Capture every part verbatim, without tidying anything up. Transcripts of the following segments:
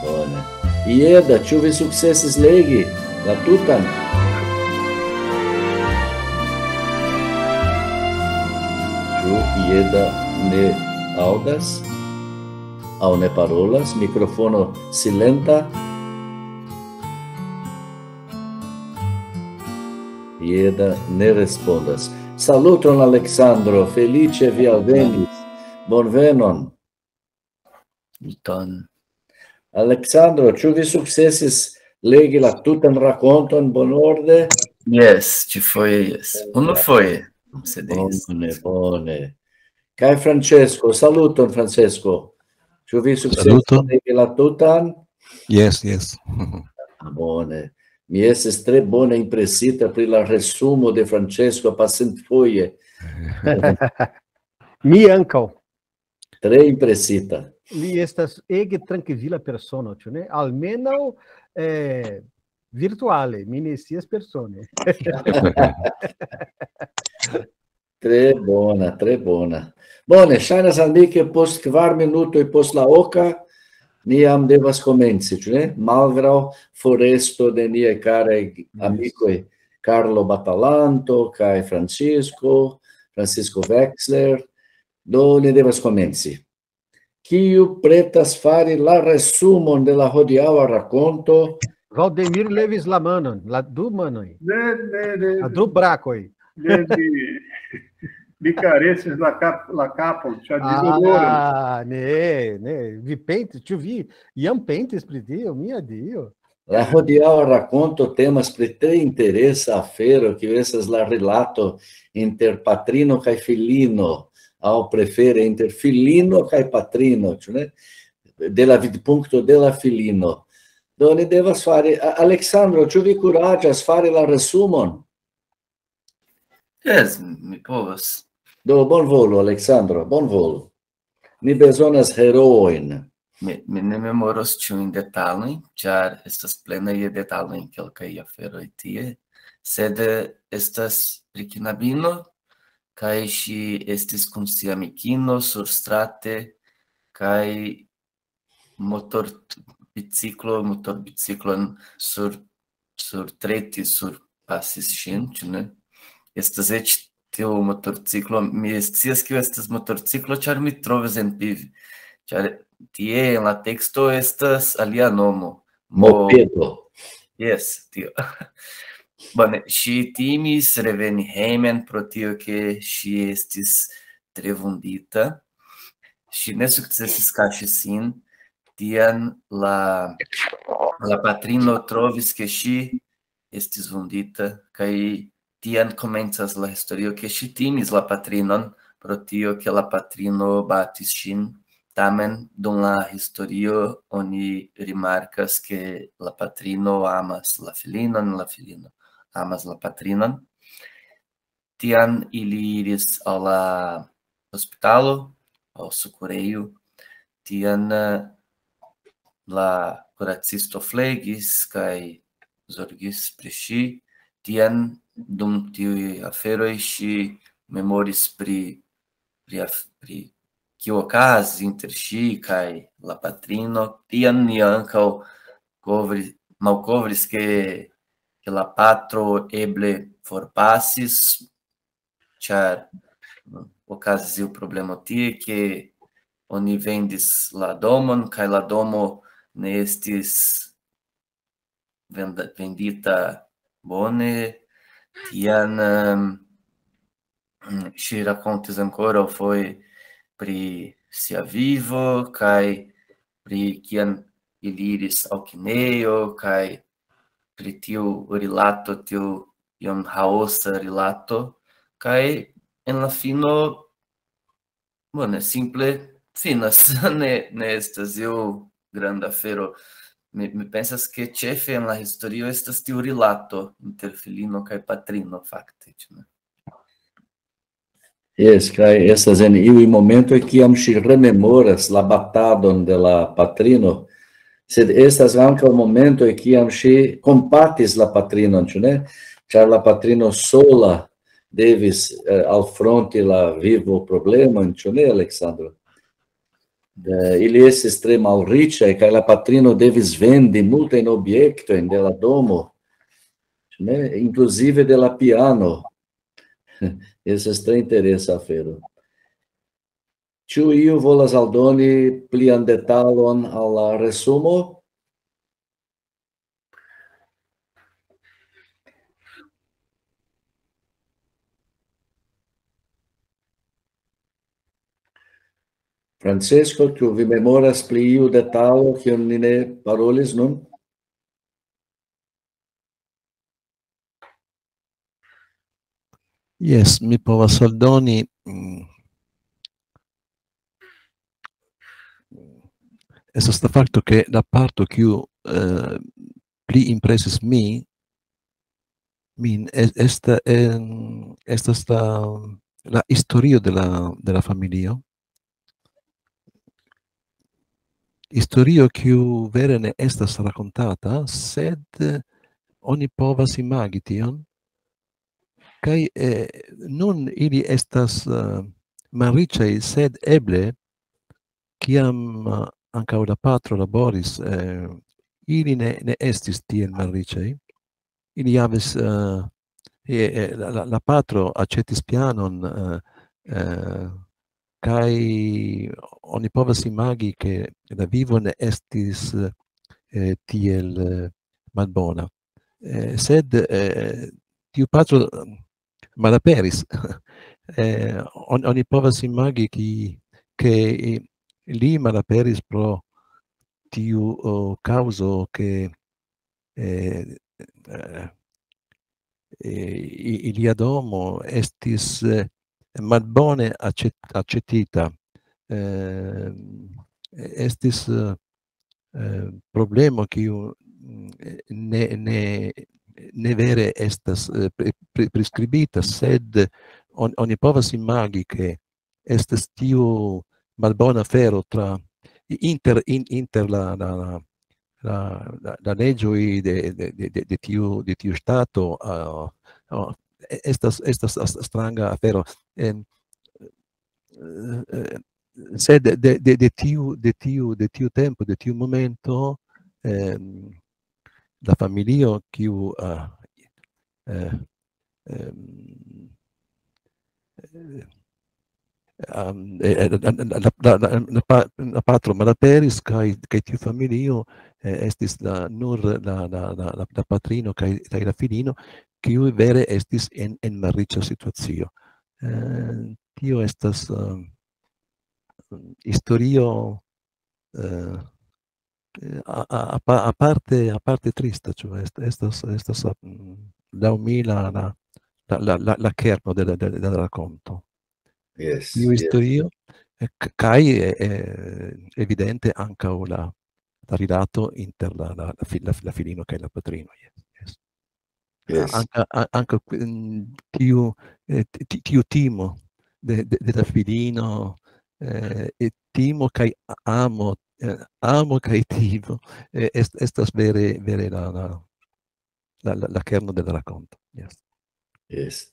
Bone. Ieda, ĉu vi sukcesis legi la tutan? Ĉu Ieda ne aŭdas? Aŭ ne parolas? Mikrofono silenta? Ieda ne respondas. Saluton, Aleksandro. Feliĉe vi alvenis. Bonvenon. Ton. Aleksandro, ĉu vi sukcesis legi la tutan rakonton bonorde? Jes, ĉifoje jes. Unufoje, se diris. Bone, bone. Kaj Francesco, saluton, Francesco. Ĉu vi sukcesis Saluton. Legi la tutan? Jes, jes. Ah, bone. Mi estis tre bone impresita pri la resumo de Francesco pasintfoje. Mi ankaŭ. Tre impresita. Li estas ege trankvila persono, ĉu ne? Almenaŭ eh, virtuale, mi ne scias persone. Tre bona, tre bona. Bone, ŝajnas al mi, ke post kvar minutoj post la oka ni jam devas komenci, ĉu ne? Malgraŭ foresto de niaj karaj amikoj Carlo Batalanto kaj Francisco, Francisco Wexler. Do ni devas komenci. Kiu pretas fari la resumon de la hodiaŭa rakonto? Valdemir levis la manon, la du manoj, Ne, ne, ne, la du brakoj. ne, mi, mi karesis la, kap, la kapon, ĉar mi doloras. Ah, ne, ne, vi pentis, ĉu vi jam pentis pri tio, mia Dio? La hodiaŭa rakonto temas pri tre interesa afero, kiu estas la rilato inter patrino kaj filino, aŭ prefere inter filino kaj patrino, ĉu ne? De la vidpunkto de la filino. Do ni devas fari. A- Aleksandro, ĉu vi kuraĝas fari la resumon? Jes, mi povas. Do bonvolu, Aleksandro, bonvolu. Ni bezonas heroojn. Mi, mi ne memoros ĉiujn detalojn, ĉar estas plena je detalojn kelkaj aferoj tie, sed eh, estas pri knabino, kaj ŝi estis kun sia amikino surstrate, kaj motorbiciklo, motorbiciklon sur, surtreti, surpasis ŝin, ĉu ne? Estas eĉ tiu motorciklo, mi scias, kiu estas motorciklo, ĉar mi trovis en piv, ĉar tie en la teksto estas alia nomo. Mo- Mopedo. Jes, tio. Bone, ŝi timis reveni hejmen pro tio, ke ŝi estis tre vundita. Ŝi ne sukcesis kaŝi sin. Tiam la, la patrino trovis, ke ŝi estis vundita, kaj tiam komencas la historio, ke ŝi timis la patrinon pro tio, ke la patrino batis ŝin. Tamen dum la historio oni rimarkas, ke la patrino amas la filinon, la filino amas la patrinon. Tiam ili iris al la hospitalo, al sokorejo. Tiam eh, la kuracisto flegis kaj zorgis pri ŝi. Tiam dum tiuj aferoj ŝi memoris pri, pri, af- pri kio okazis inter ŝi kaj la patrino. Tiam ni ankaŭ kovri, malkovris, ke, ke la patro eble forpasis, ĉar mm, okazis iu problemo tie, ke oni vendis la domon, kaj la domo ne estis venda, vendita bone. Tiam em, ŝi rakontis ankoraŭ foje pri sia vivo, kaj pri kiam ili iris al kinejo, kaj pri tiu rilato, tiu iom haosa rilato, kaj en la fino, bone, simple finas, ne, ne estas iu granda afero. Mi, mi pensas, ke ĉefe en la historio estas tiu rilato inter filino kaj patrino, fakte, ĉu ne? Jes, kaj estas en iuj momentoj, kiam ŝi rememoras la batadon de la patrino, sed estas ankaŭ momentoj, kiam ŝi kompatis la patrinon, ĉu ne? Ĉar la patrino sola devis eh, alfronti la vivo problemojn, ĉu ne, Aleksandro? Eh, ili estis tre malriĉaj, kaj la patrino devis vendi multajn objektojn de la domo, ĉu ne? Inkluzive de la piano. Estas tre interesa afero. Ĉu iu volas aldoni plian detalon al la resumo? Francesco, ĉu vi memoras pri iu detalo, kiun ni ne parolis nun? Jes, mi povas aldoni. Mm, estas la fakto, ke la parto, kiu eh, pli impresis mi, min, es- esta, en, estas la, la historio de la, de la familio. Historio, kiu vere ne estas rakontata, sed eh, oni povas imagi tion. Kaj eh, nun ili estas eh, malriĉaj, sed eble, kiam eh, ankaŭ la patro laboris, eh, ili ne, ne estis tiel malriĉaj. Ili havis, eh, eh, eh, la, la, la patro aĉetis pianon, eh, eh, kaj oni povas imagi, ke la vivo ne estis eh, tiel eh, malbona. Eh, sed eh, tiu patro mm, malaperis. Eh, on, oni povas imagi, ki, ke eh, li malaperis pro tiu oh, kaŭzo, ke eh, eh, eh, i- ilia domo estis eh, malbone aĉet- aĉetita. Eh, estis eh, eh, problemo, kiu mm, ne, ne, ne vere estas eh, pri- pri- priskribita, sed on, oni povas imagi, ke estas tiu malbona afero tra inter, in, inter la, la, la, la, la, la leĝoj de, de, de, de, de, tiu, de tiu ŝtato. Uh, uh, estas, estas as- stranga afero. En, eh, eh, sed de, de, de, tiu, de, tiu, de tiu tempo, de tiu momento, ehm, la familio, kiu uh, eh, ehm, eh, am, eh, eh, la, la, la, la, la, pa- la patro malaperis, kaj, kaj tiu familio eh, estis la, nur la, la, la, la, la patrino kaj, kaj la filino, kiu vere estis en, en malriĉa situacio. Eh, tio estas um, historio eh, eh, a- a- apa- aparte, aparte trista, ĉu est- estas, estas mm, laŭ mi la, la, la, la, la, la kerno de la, de, de la rakonto. Yes, Tiu yes. Historio, eh, k- kaj eh, eh, evidente ankaŭ la, la rilato inter la, la, la, fi- la, la filino kaj la patrino. Yes, yes. Yes. Anka, a- anka mm, tiu, eh, ti- ti- tiu timo de, de, de la filino, eh, e timo kaj amo, eh, amo kaj timo, eh, est, estas vere, vere la, la, la, la, la kerno de la rakonto. Yes. Yes.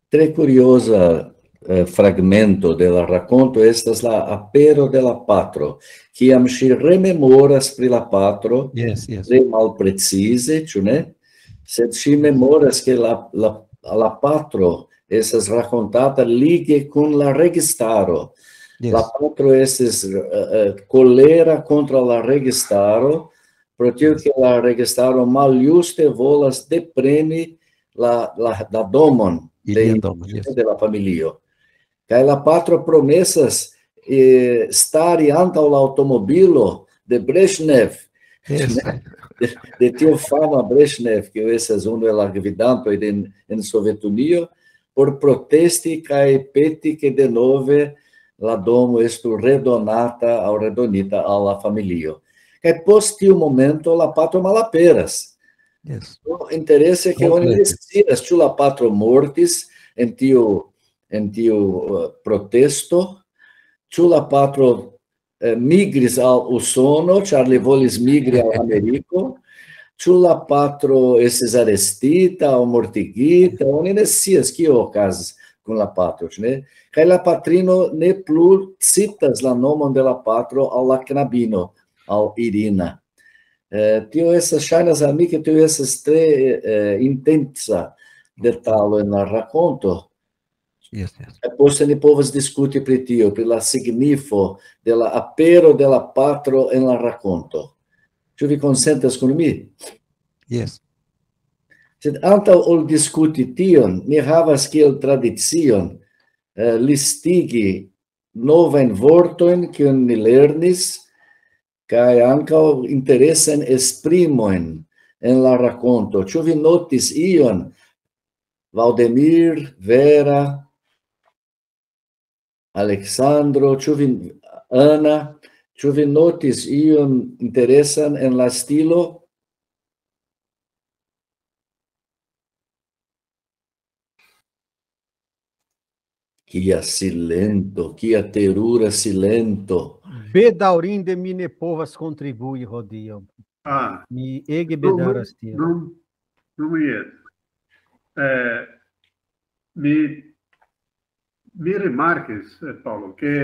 Tre curiosa eh, fragmento de la rakonto estas la apero de la patro, kiam ŝi rememoras pri la patro, Yes, yes. Tre malprecize, ĉu ne? Sed ŝi memoras, ke la, la, la patro estas rakontata lige kun la registaro. Yes. La patro estis eh, eh, kolera kontraŭ la registaro, pro tio ke la registaro maljuste volas depreni la, la, la domon de, Ilian domon, yes. De la familio. Kaj la patro promesas eh, stari antaŭ la aŭtomobilo de Brezhnev, Yes. de, de tiu fama Brezhnev, kiu estas unu el la gvidantoj de, en Sovetunio, por protesti kaj peti, ke denove la domo estu redonata aŭ redonita al la familio. Kaj post tiu momento la patro malaperas. Yes. No, interese, ke oni ne Komplete. Scias, ĉu la patro mortis en tiu, en tiu eh, protesto, ĉu la patro eh, migris al Usono, ĉar li volis migri al Ameriko, ĉu la patro estis arestita aŭ mortigita, oni ne scias, kio okazis. kun la patro, ĉu ne? Kaj la patrino ne plu citas la nomon de la patro al la knabino, al Irina. Eh, tio estas, ŝajnas al mi, ke tio estas tre, eh, intensa detalo en la rakonto. Yes, yes. Kaj poste ni povas diskuti pri tio, pri la signifo de la apero de la patro en la rakonto. Ĉu vi konsentas kun mi? Yes. Sed antaŭ ol diskuti tion, ni havas kiel tradicion, eh, listigi novajn vortojn, kiujn ni lernis, kaj ankaŭ interesajn esprimojn en la rakonto. Ĉu vi notis ion, Valdemir, Vera, Aleksandro, ĉu vi, Ana, ĉu vi notis ion interesan en la stilo? Kia silento, kia terura silento. Bedaŭrinde mi ne povas kontribui hodiaŭ. Ah, Mi ege bedaŭras tion. Dum, dum iet. Eh, mi, mi rimarkis, eh, Paolo, che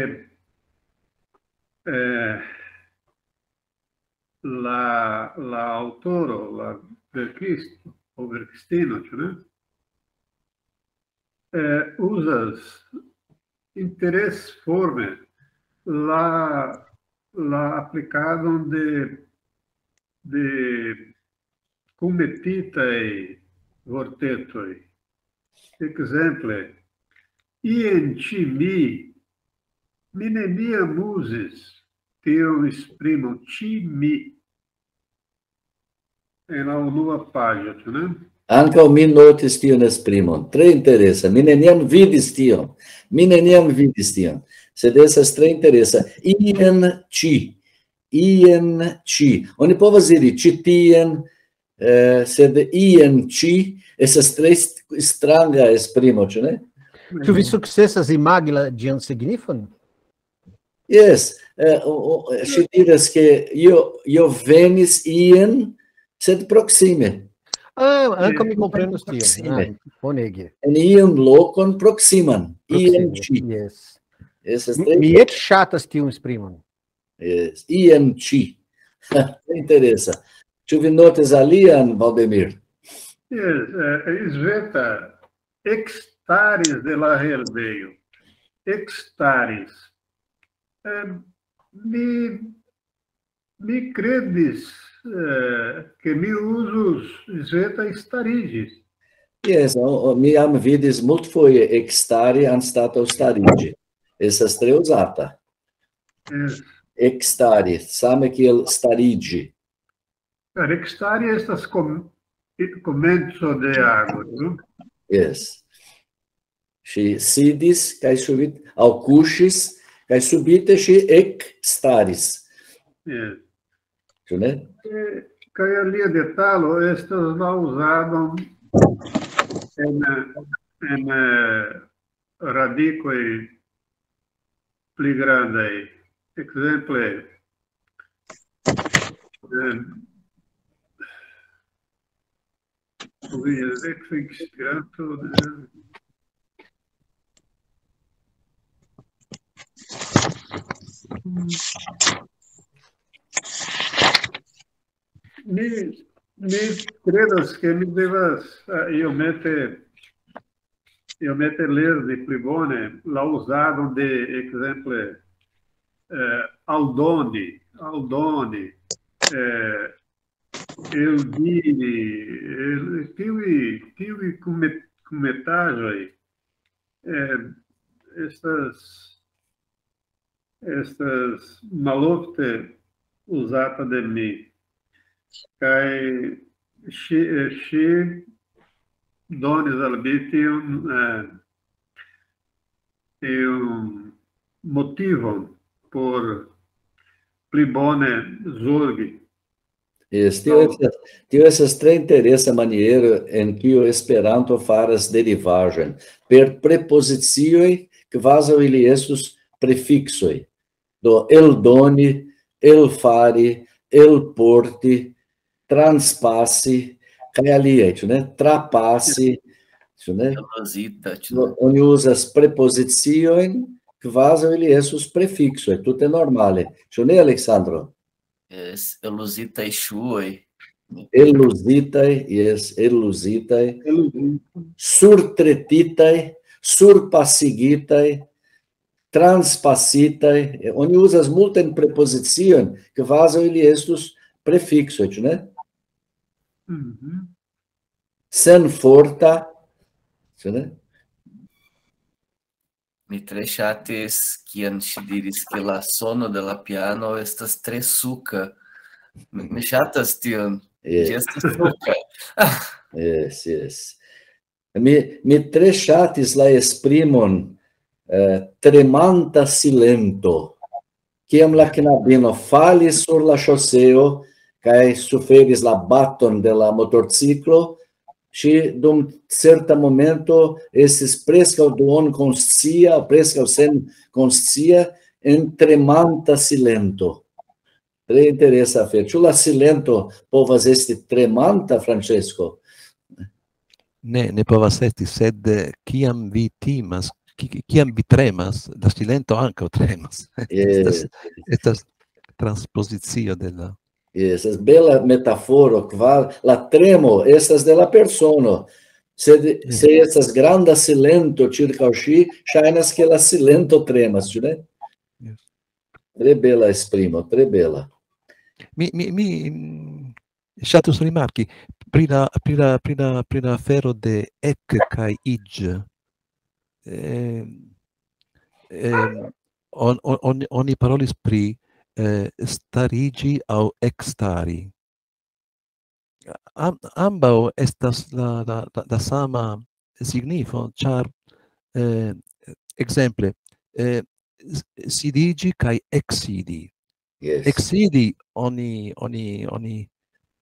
eh, la, la autoro, la verkisto, o verkistino, ĉu ne? Eh, uzas interesforme la, la aplikadon de, de kunmetitaj vortetoj. Ekzemple, ien ĉi mi, mi neniam uzis tiun esprimon ĉi mi en la unua paĝo, ĉu ne? Ankaŭ mi notis tiun esprimon. Tre interesa. Mi neniam vidis tion. Mi neniam vidis tion. Sed estas tre interesa. Ien ĉi. Ien ĉi. Oni povas diri ĉi tien, eh, sed ien ĉi estas tre st-, stranga esprimo, ĉu ne? Ĉu vi sukcesas imagi la ĝian signifon? Yes, eh, o, o, ŝi diras, ke io, io venis ien, sed proksime. Ah, ankaŭ mi komprenas tion. Proksime. Ah, bonege. En iun lokon proksiman. Ien Proksime, ĉi. Yes. Estas Mi, tre mi eĉ ŝatas tiun esprimon. Yes. Ien ĉi. Interesa. Ĉu vi notis alian, Valdemir? Yes, eh, Sveta ekstaris de la herbejo. Ekstaris. Eh, mi, mi kredis, eh, ke mi uzus Sveta stariĝis. Yes, o, o, mi jam vidis multfoje ekstari anstataŭ stariĝi. Estas tre uzata. Yes. Ekstari, same kiel stariĝi. Ekstari estas kom-, komenco de ago, ĉu? Yes. Ŝi sidis kaj subite, aŭ kuŝis, kaj subite ŝi ekstaris. Yes. Ĉu ne? Eh, kaj alia detalo estas la uzado en, en, eh, radikoj pli grandaj. Ekzemple, eh, vi elektis Esperanto, eh, mi, mi kredas, ke mi devas, eh, iomete, iomete lerni pli bone la uzadon de, ekzemple, eh, aldoni, aldoni, eh, eldiri, el-, tiuj, tiuj kunmet-, kunmetaĵoj, eh, estas, estas malofte uzata de mi. Kaj ŝi, eh, ŝi donis al mi tiun, eh, tiun motivon por pli bone zorgi. Yes, tio estas, tio estas tre interesa maniero en kiu Esperanto faras derivaĵojn per prepozicioj, kvazaŭ ili estus prefiksoj. Do, eldoni, elfari, elporti, transpasi, kaj aliaj, ĉu ne? Trapasi, Ĉu ne? Eluzita, ĉu No, oni uzas prepoziciojn, kvazaŭ ili estus prefiksoj, tute normale. Ĉu ne, Aleksandro? Jes, eluzitaj ŝuoj. Eluzitaj, jes, eluzitaj, surtretitaj, surpasigitaj, transpasitaj. Oni uzas multajn prepoziciojn, kvazaŭ ili estus prefiksoj, ĉu ne? Mhm. Senforta, ĉu ne? Mi tre ŝatis, kiam ŝi diris, ke la sono de la piano estas tre suka. Mi, mi ŝatas tion. Ĝi Jes, estas suka. jes, jes. Mi, mi tre ŝatis la esprimon eh, tremanta silento. Kiam la knabino falis sur la ŝoseo kaj suferis la baton de la motorciklo, ŝi dum certa momento estis preskaŭ duonkonscia, preskaŭ senkonscia, en tremanta silento. Tre interesa afero. Ĉu la silento povas esti tremanta, Francesco? Ne, ne povas esti, sed eh, kiam vi timas, ki- kiam vi tremas, la silento ankaŭ tremas. Jes, Estas transpozicio de la... Jes, estas bela metaforo, kvar, la tremo estas de la persono. Se, se estas granda silento ĉirkaŭ ŝi, ŝajnas, ke la silento tremas, ĉu ne? Jes. Tre bela esprimo, tre bela. Mi, mi, mi mm, ŝatus rimarki pri la, pri la, pri la, pri la afero de ek kaj iĝ. Eh, eh, on, on, on, oni parolis pri eh, stariĝi aŭ ekstari. Am, ambaŭ estas la, la, la, la sama signifo, ĉar eh, ekzemple eh, s- sidiĝi kaj eksidi. Yes. Eksidi oni, oni, oni,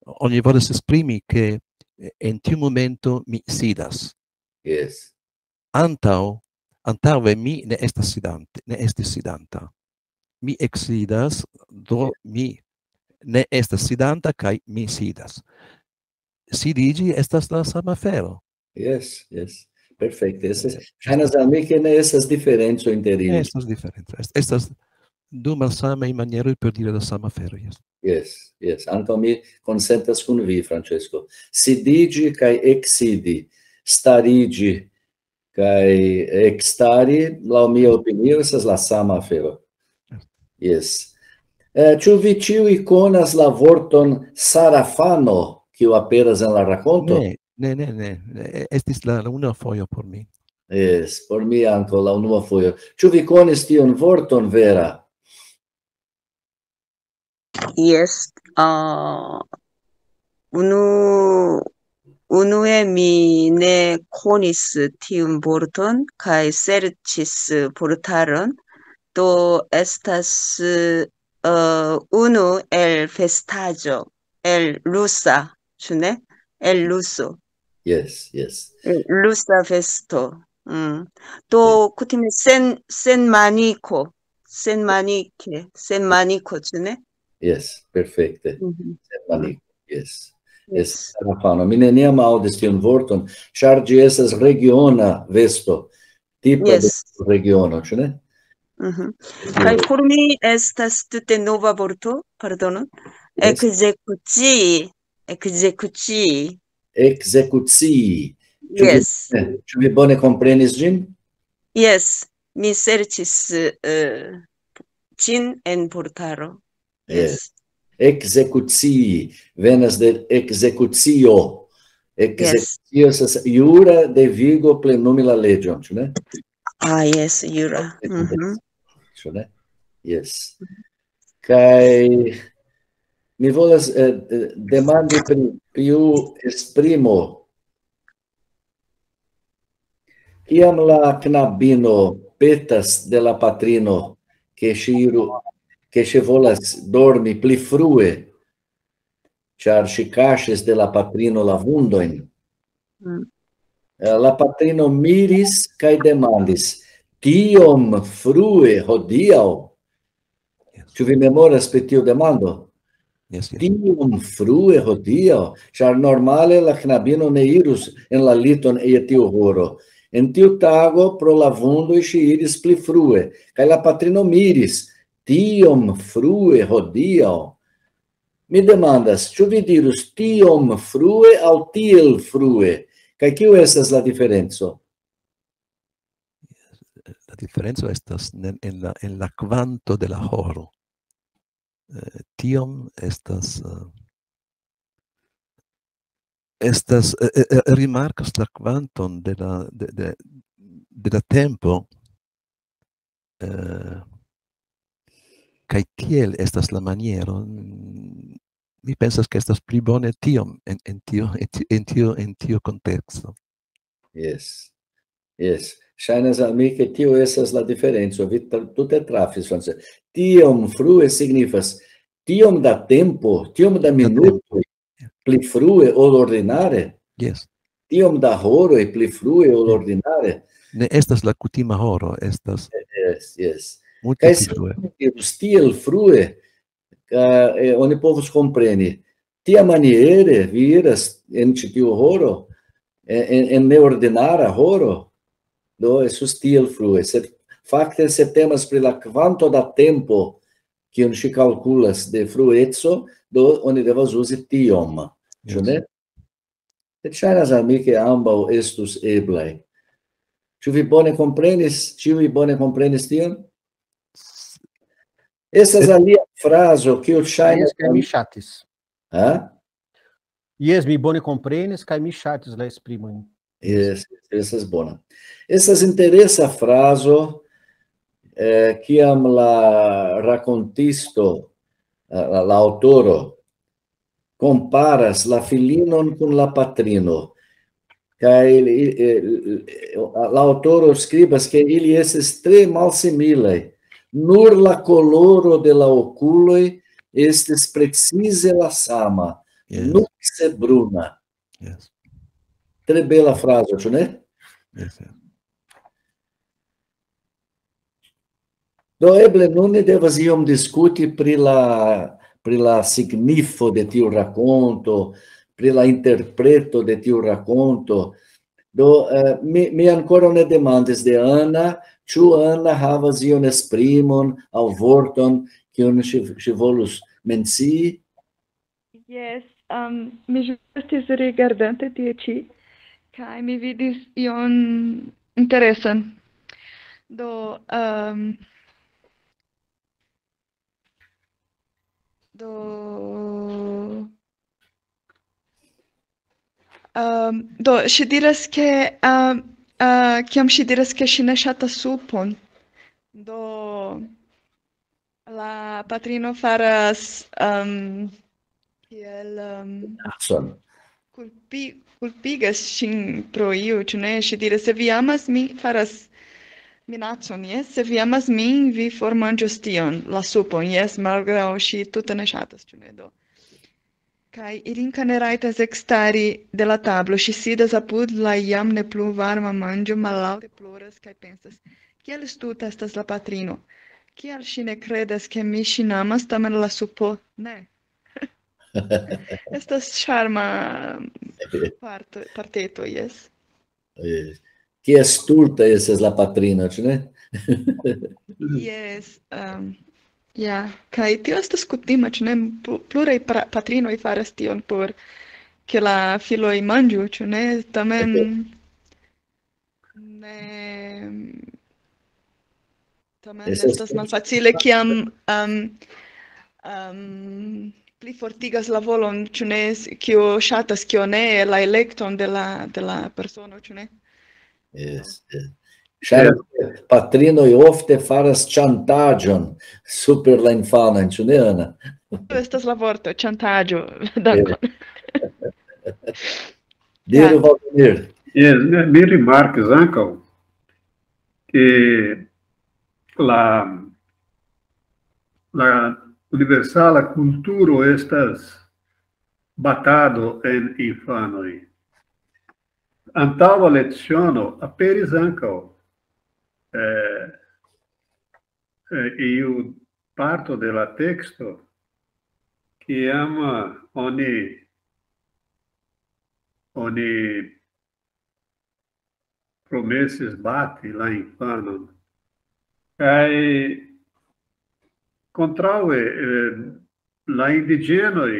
oni volas esprimi, ke en tiu momento mi sidas. Yes. Antaŭ, antaŭe mi ne estas sidante, ne estis sidanta. Mi eksidas, do mi ne estas sidanta kaj mi sidas. Sidiĝi estas la sama afero. Yes, yes. Perfekte. Estas, ŝajnas al mi, ke ne estas diferenco inter ili. Estas diferenco. Est- Estas du malsamaj manieroj por diri la sama afero. Yes. Yes, yes. Ankaŭ mi konsentas kun vi, Francesco. Sidiĝi kaj eksidi, stariĝi kaj ekstari, laŭ mia opinio, estas la sama afero. Yes. Eh, ĉu vi ĉiuj konas la vorton sarafano, kiu aperas en la rakonto? Ne, ne, ne, ne. Ne, estis la, la unua fojo por mi. Yes, por mi ankaŭ la unua fojo. Ĉu vi konis tiun vorton, Vera? Yes. Uh, unu, unue mi ne konis tiun vorton kaj serĉis portalon. Do estas uh, unu el festaĵo, el rusa, ĉu ne? El ruso. Yes, yes. Rusa festo. Mm. Do kutime sen, sen maniko, sen manike, sen maniko, ĉu ne? Yes, perfekte. Mhm. Sen maniko, yes. Yes. Estas sarafano. Mi neniam aŭdis tiun vorton, ĉar ĝi estas regiona vesto. Tipa de Yes. regiono, ĉu ne? Mhm. Kaj por mi estas tute nova vorto, pardonon. Yes. Ekzekucii, ekzekucii. Ekzekucii. Ĉu vi, Yes. Ĉu vi bone komprenis ĝin? Yes, mi serĉis eh, ĝin en portalo. Yes. Ekzekucii venas de ekzekucio. Ekzekucio estas jura devigo plenumi la leĝon, ĉu ne? Ah, yes, jura. Mhm. Ĉu ne? Yes. Kaj mi volas eh, eh, demandi pri tiu esprimo. Kiam la knabino petas de la patrino, ke ŝi iru, ke ŝi volas dormi pli frue, ĉar ŝi kaŝis de la patrino la vundojn. Mm. Eh, La patrino miris kaj demandis: "Tiom frue hodiaŭ?" Ĉu vi memoras pri tiu demando? Yes, yes. Tiom frue hodiaŭ, ĉar normale la knabino ne irus en la liton je tiu horo. En tiu tago pro la vundoj ŝi iris pli frue, kaj la patrino miris: "Tiom frue hodiaŭ." Mi demandas, ĉu vi dirus "tiom frue" aŭ "tiel frue"? Kaj kiu estas la diferenco? La diferenco estas en, en la, en la kvanto de la horo. Eh, tiom estas, eh, estas, eh, eh, eh, rimarkas la kvanton de la, de, de, de la tempo, eh, kaj tiel estas la maniero. Mm, mi pensas, ke estas pli bone tiom en, en tio, en ti-, en tio, en tio konteksto. Yes. Yes. Ŝajnas al mi, ke tio estas la diferenco. Vi tra-, tute trafis, Francis. "Tiom frue" signifas tiom da tempo, tiom da minutoj pli frue ol ordinare, Yes. tiom da horoj pli frue ol ordinare. Ne estas la kutima horo, estas Yes, yes. multe Kaj pli se frue. Iru tiel frue, ka, eh, oni povus kompreni. Tiamaniere vi iras en ĉi tiu horo, en, en, en neordinara horo, do estus tiel frue. Sed fakte, se temas pri la kvanto da tempo, kiun ŝi kalkulas de frueco, do oni devas uzi "tiom". Ĉu Yes. Ne? Sed ŝajnas al mi, ke ambaŭ estus eblaj. Ĉu vi bone komprenis? Ĉiuj bone komprenis tion? Estas alia frazo, kiu ŝajnas Jes, kaj mi ŝatis. Ha? Jes, mi bone komprenis, kaj mi ŝatis la esprimojn. Jes, estas bona. Estas interesa frazo, eh, kiam la rakontisto, eh, la, la aŭtoro, komparas la filinon kun la patrino. Kaj, eh, la aŭtoro skribas, ke ili estis tre malsimilaj. Nur la koloro de la okuloj estis precize la sama, Yes. Nukse bruna. Yes. Tre bela frazo, ĉu ne? Yes, yes. Do eble nun ni devas iom diskuti pri la, pri la signifo de tiu rakonto, pri la interpreto de tiu rakonto. Do, eh, mi, mi ankoraŭ ne demandis de Ana, ĉu Ana havas ion esprimon aŭ vorton, kiun ŝi, ŝi volus mencii? Jes, um, mi ĵus estis rigardante tie ĉi, kaj mi vidis ion interesan. Do, um, do, um, do, ŝi diras, ke, um, uh, kiam ŝi diras, ke ŝi ne ŝatas supon, do la patrino faras, um, kiel, um, Minacon. Kulpi-, kulpigas ŝin pro iu, ĉu ne? Ŝi diras, "Se vi amas min, faras minacon, jes? Se vi amas min, vi formanĝos tion, la supon, jes?" Malgraŭ ŝi tute ne ŝatas, ĉu ne? Do. Kaj Irinka ne rajtas ekstari de la tablo. Ŝi sidas apud la jam ne plu varma manĝo, mallaŭte ploras kaj pensas, "Kiel stulta estas la patrino. Kial ŝi ne kredas, ke mi ŝin amas, tamen la supo ne?" Estas ŝarma parto, parteto, jes. Eh, Kia stulta estas la patrino, ĉu ne? Jes, um, ja, kaj tio estas kutima, ĉu ne? Plu-, pluraj pra-, patrinoj faras tion por ke la filoj manĝu, ĉu ne? Tamen ne, tamen Estas estas malfacile, kiam, um, um, pli fortigas la volon, ĉu ne, s-, kio ŝatas, kio ne, la elekton de la, de la persono, ĉu ne? Yes, yes. Ŝajnas, ke patrinoj ofte faras ŝantaĝon super la infanojn, ĉu ne, Ana? Estas la vorto, ŝantaĝo. Dankon. Diru, Valdemir. Jes, ne, mi rimarkis ankaŭ, ke la, la universala kulturo estas batado en infanoj. Antaŭa leciono aperis ankaŭ, eh, eh, iu parto de la teksto, kiam, eh, oni, oni promesis bati la infanon. Kaj kontraŭe, eh, la indiĝenoj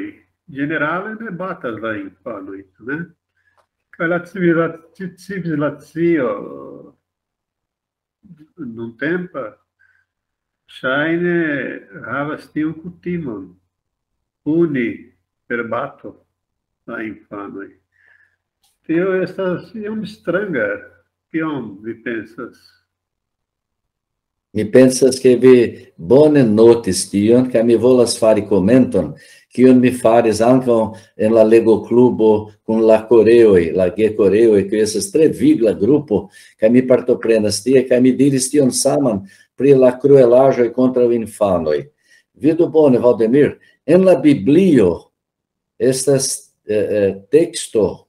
ĝenerale ne batas la infanojn, ne? Kaj la civila-, ci-, civilizacio nuntempa ŝajne havas tiun kutimon puni per bato la infanoj. Tio estas iom stranga, kion vi pensas? Mi pensas, ke vi bone notis tion, kaj mi volas fari komenton, kiun mi faris ankaŭ en la legoklubo kun la koreoj, la gekoreoj, kiu estas tre vigla grupo, kaj mi partoprenas tie, kaj mi diris tion saman pri la kruelaĵoj kontraŭ infanoj. Vidu bone, Valdemir, en la Biblio estas, eh, eh, teksto,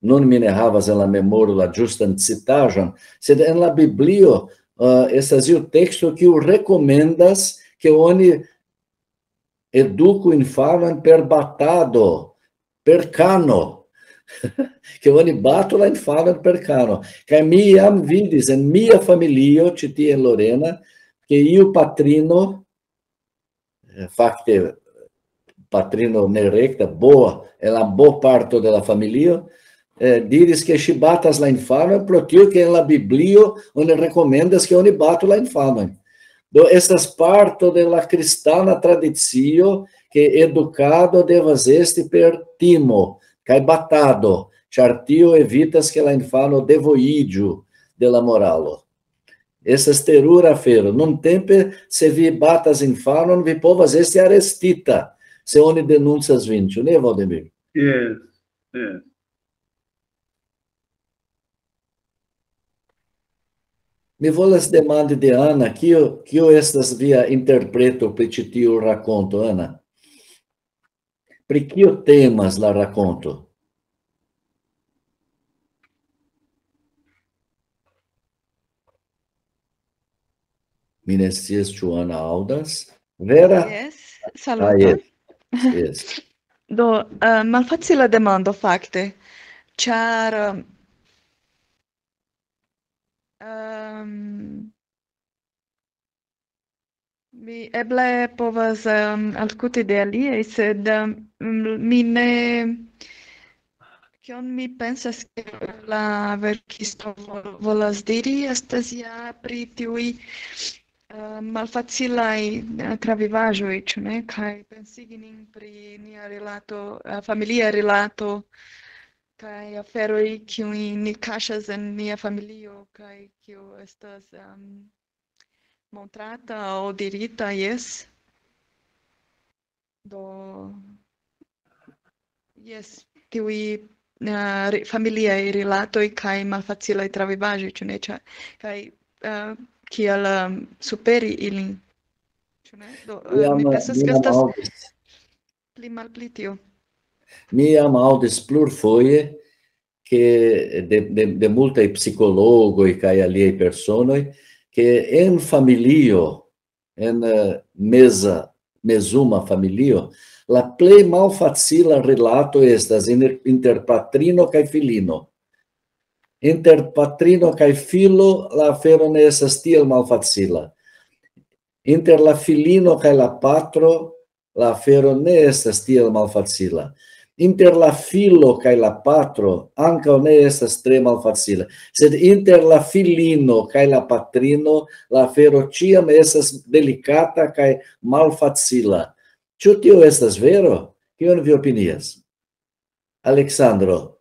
nun mi ne havas en la memoro la ĝustan citaĵon, sed en la Biblio, eh, estas iu teksto, kiu rekomendas, ke oni eduku infanon per batado, per kano, ke oni batu la infanon per kano. Kaj mi jam vidis en mia familio, ĉi tie en Lorena, ke iu patrino, eh, fakte patrino nerekta, bo, en la bo parto de la familio, eh, diris, ke ŝi batas la infanon pro tio, ke en la Biblio oni rekomendas, ke oni batu la infanon. Do estas parto de la kristana tradicio, ke edukado devas esti per timo kaj batado, ĉar tio evitas, ke la infano devojiĝu de la moralo. Estas terura afero. Nuntempe, se vi batas infanon, vi povas esti arestita, se oni denuncas vin, ĉu ne, Valdemir? Yes, yes. Mi volas demandi de Ana, kio, kio estas via interpreto pri ĉi tiu rakonto, Ana? Pri kio temas la rakonto? Mi ne scias, ĉu Ana aŭdas. Vera? Yes, ah, saluton. Yes. Yes. Do, eh, malfacila demando, fakte, ĉar, ehm, mi eble povas, ehm, aŭskulti de aliaj, sed, ehm, mi ne, kion mi pensas, ke la verkisto vo-, volas diri, estas ja pri tiuj, eh, malfacilaj, eh, travivaĵoj, ĉu ne? Kaj pensigi nin pri nia rilato, eh, familia rilato, kaj aferoj, kiujn ni kaŝas en nia familio, kaj kio estas, ehm, montrata aŭ dirita, jes. Do, jes, tiuj, eh, ri-, familiaj rilatoj kaj malfacilaj travivaĵoj, ĉu ne? Ĉa-, kaj, eh, kiel, ehm, superi ilin, ĉu ne? Do, eh, mi pensas, ke estas pli malpli tio. Mi jam aŭdis plurfoje, ke de, de, de multaj psikologoj kaj aliaj personoj, ke en familio, en, eh, meza, mezuma familio, la plej malfacila rilato estas inter, inter patrino kaj filino. Inter patrino kaj filo la afero ne estas tiel malfacila. Inter la filino kaj la patro la afero ne estas tiel malfacila. Inter la filo kaj la patro ankaŭ ne estas tre malfacila, sed inter la filino kaj la patrino la afero ĉiam estas delikata kaj malfacila. Ĉu tio estas vero? Kion vi opinias? Aleksandro.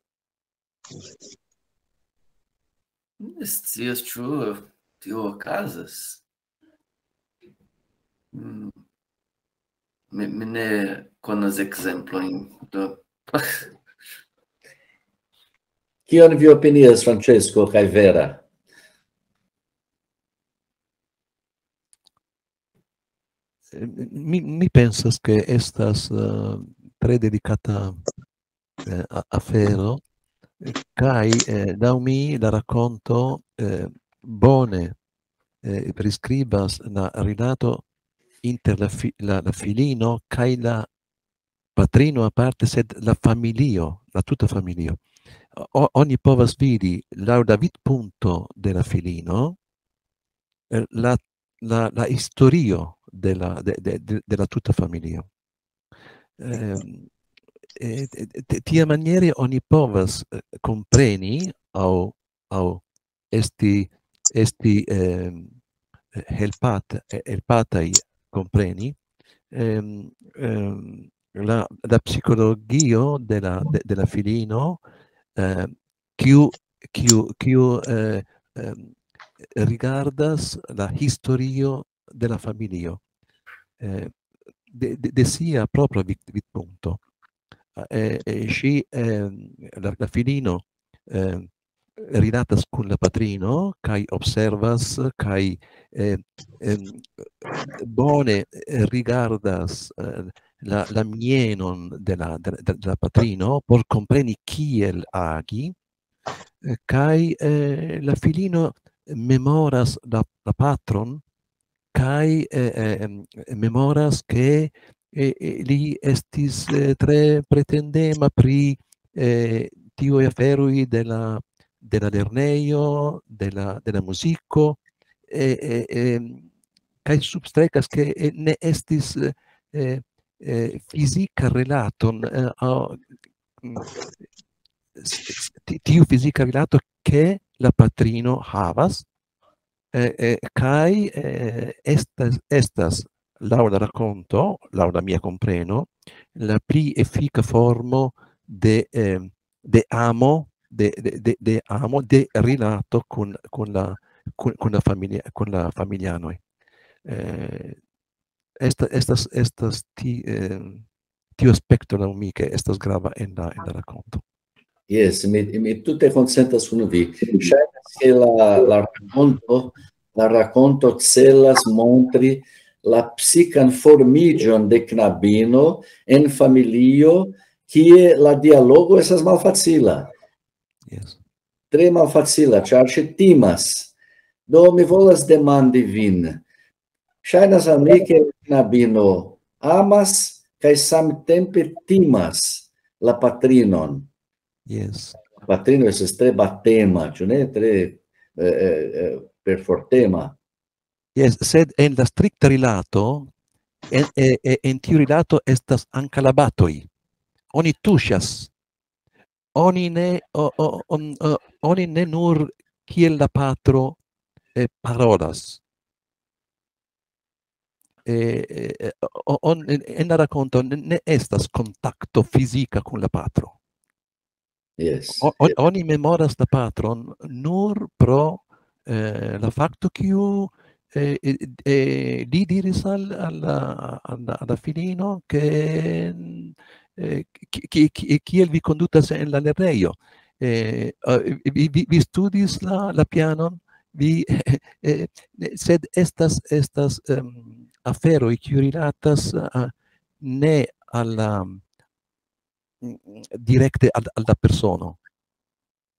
Ne scias, ĉu tio okazas. Mm. Mi, mi ne konas ekzemplojn, do. Kion vi opinias, Francesco, kaj Vera? Mi, mi pensas, ke estas, eh, tre delikata, eh, a-, afero, eh, kaj, eh, laŭ mi la rakonto, eh, bone, eh, priskribas la rilato inter la fi-, la, la filino kaj la patrino aparte, sed la familio, la tuta familio. O-, oni povas vidi laŭ la vidpunkto de la filino, eh, la, la, la historio de la, de, de, de, de la tuta familio. Ehm, eh, eh, ti-, tiamaniere oni povas, eh, kompreni aŭ, aŭ esti, esti, ehm, helpat-, eh, helpataj kompreni, ehm, ehm, la, la psikologio de la, de, de la filino, eh, kiu, kiu, kiu, eh, ehm, rigardas la historio de la familio, eh, de, de, de sia propra vid-, vidpunkto. Eh, eh, ŝi, ehm, la, la filino, ehm, rilatas kun la patrino kaj observas kaj, eh, em, bone, eh, rigardas, eh, la, la mienon de la, de, de, de la patrino por kompreni kiel agi, eh, kaj, eh, la filino memoras la, la patron kaj, eh, eh, em, memoras ke, eh, eh, li estis, eh, tre pretendema pri, eh, tiuj aferoj de la, de la lernejo, de la, de la muziko, eh, eh, em, kaj substrekas ke, eh, ne estis, eh, eh, eh, fizika rilaton, eh, a, mm, s-, s-, ti-, tiu fizika rilato ke la patrino havas, eh, eh, kaj, eh, estas, estas, laŭ la rakonto, laŭ la mia kompreno, la pli efika formo de, eh, de amo, de, de, de, de amo, de rilato kun, kun la, kun, kun la familia, kun la familianoj. Eh, esta-, estas, estas ti-, eh, tiu aspekto laŭ mi, ke estas grava en la, en la rakonto. Jes, mi, mi tute konsentas kun vi. Ŝajnas, ke la, la rakonto, la rakonto celas montri la psikan formiĝon de knabino en familio, kie la dialogo estas malfacila. Jes. Tre malfacila, ĉar ŝi timas. Do, mi volas demandi vin. Ŝajnas al mi, ke la knabino amas kaj samtempe timas la patrinon. Jes. La patrino estas tre batema, ĉu ne? Tre, eh, eh, eh, perfortema. Jes, sed en la strikta rilato, en, eh, eh, en tiu rilato estas ankaŭ la batoj. Oni tuŝas. Oni ne, o, o, on, o, oni ne nur kiel la patro, eh, parolas. Eh, eh, eh, o-, on-, en, en la rakonto ne, ne estas kontakto fizika kun la patro. Jes, O-, on-, jes. Oni memoras la patron nur pro, eh, la fakto, kiu, eh, eh, eh, li diris al, al la, al la, al la filino, ke, eh, ki-, ki-, ki-, kiel vi kondutas en la lernejo. Eh, eh, vi, vi, vi studis la, la pianon, vi, eh, ne, sed estas, estas, em, aferoj, kiu rilatas a, ne al la, mm, direkte al, al la persono.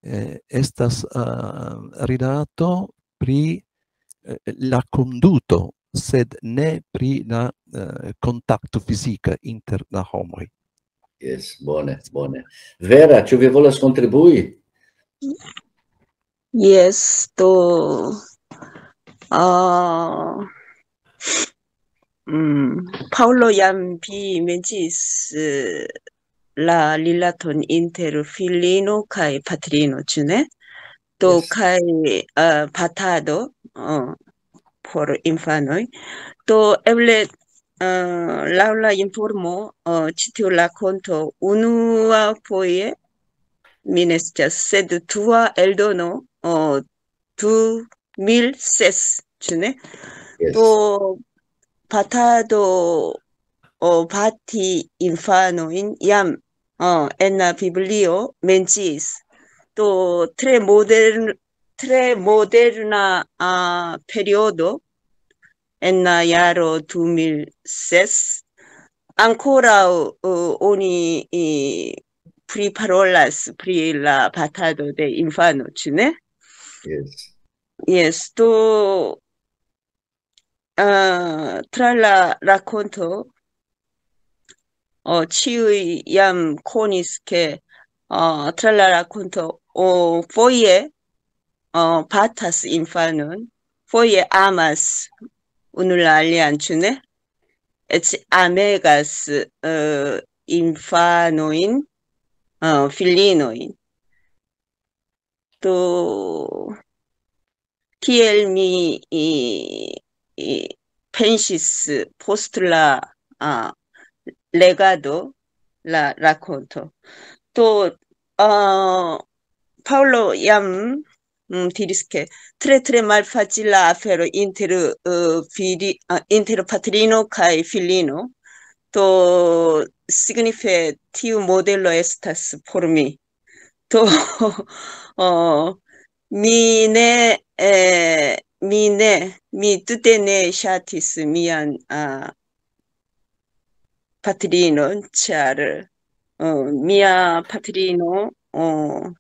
Eh, estas, ah, rilato pri, eh, la konduto, sed ne pri la, eh, kontakto fizika inter la homoj. Jes, bone, bone. Vera, ĉu vi volas kontribui? Jes, do, ah, mm, Paŭlo jam vi menciis, eh, la rilaton inter filino kaj patrino, ĉu ne? Do, Jes. Kaj, eh, patado, eh, por infanoj. Do, eble, eh, laŭ la informo, eh, ĉi tiu rakonto unua foje, mi ne scias, sed dua eldono, eh, du mil ses, ĉu ne? Jes. Do, patado, o, pati infanojn jam, o, en la Biblio menciis. Do, tre modern-, tre moderna, ah, periodo en la jaro du mil ses. Ankoraŭ, o, oni, eh, priparolas pri la patado de infano, ĉu ne? Jes. Jes, do, ah, tra la rakonto, o, ĉiuj jam konis, ke, o, tra la rakonto, o, foje, o, patas infanon, foje amas unu la alian, ĉu ne? Eĉ amegas, eh, infanojn, eh, filinojn. Do, kiel mi, i, i, pensis post la, ah, legado la rakonto. Do, ah, Paŭlo jam, mm, diris, ke tre, tre malfacila afero inter, eh, fili-, ah, inter patrino kaj filino. Do, signife tiu modelo estas por mi. Do, oh, mi ne, eh, mi ne, mi tute ne ŝatis mian, ah, patrinon, ĉar, oh, mia patrino, oh,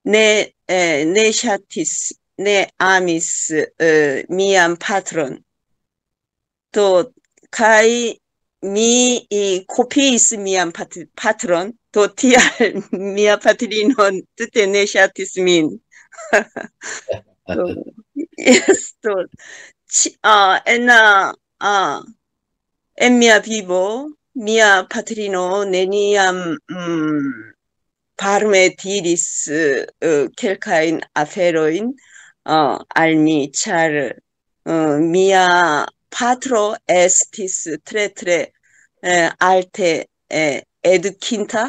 ne, eh, ne ŝatis, ne amis, eh, mian patron. Do, kaj mi, eh, kopiis mian pat-, patron, do tial mia patrino tute ne ŝatis min. Do, yes, do, ĉi-, ah, en, ah, ah, en mia vivo, mia patrino neniam, mm, permesiris, eh, eh, kelkajn aferojn, ah, al mi, ĉar, eh, mia patro estis tre, tre, eh, alte, eh, edukinta.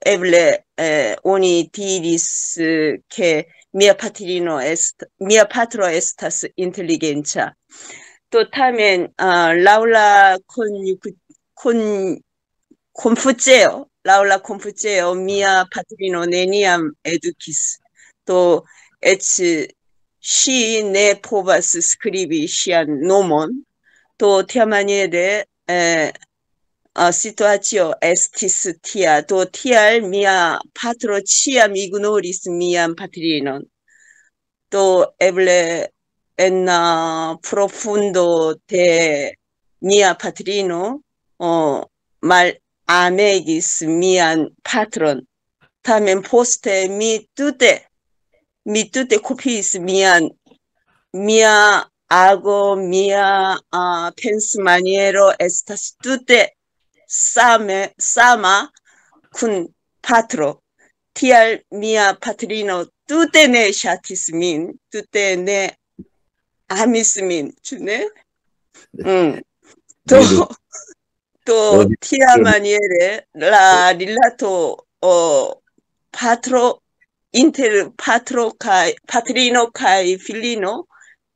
Eble, eh, oni diris, eh, ke mia patrino est-, mia patro estas inteligenca. Do tamen, ah, laŭ la konjuk-, kon-, konfuceo, laŭ la konfuceo, mia patrino neniam edukis. Do, eĉ ŝi ne povas skribi ŝian nomon. Do, tiamaniere, eh, ah, situacio estis tia. Do, tial mia patro ĉiam ignoris mian patrinon. Do, eble en, ah, profundo de mia patrino, o, malamegis mian patron. Tamen poste mi tute, mi tute kopiis mian, mia ago, mia, ah, pensmaniero estas tute same, sama kun patro. Tial mia patrino tute ne ŝatis min, tute ne amis min, ĉu ne? Mm. Do, Vidu. Do, Oni tiamaniere la rilato, o, patro, inter patro kaj, patrino kaj filino